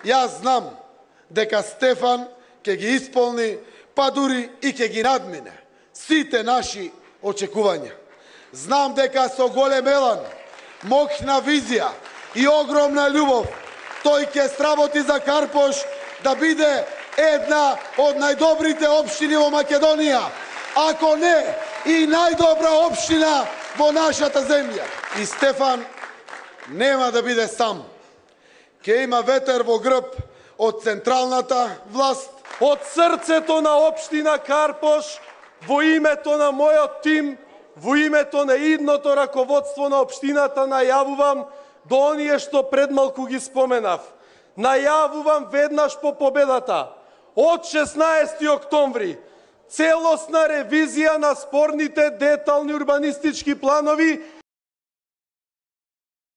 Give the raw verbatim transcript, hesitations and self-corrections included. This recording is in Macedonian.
Јас знам дека Стефан ќе ги исполни, па дури и ќе ги надмине сите наши очекувања. Знам дека со голем елан, моќна визија и огромна љубов тој ќе сработи за Карпош да биде една од најдобрите општини во Македонија, ако не и најдобра општина во нашата земја. И Стефан нема да биде сам. Ке има ветер во грб од централната власт, од срцето на општина Карпош, во името на мојот тим, во името на идното раководство на општината најавувам до оние што предмалку ги споменав. Најавувам веднаш по победата, од шеснаесети октомври, целосна ревизија на спорните детални урбанистички планови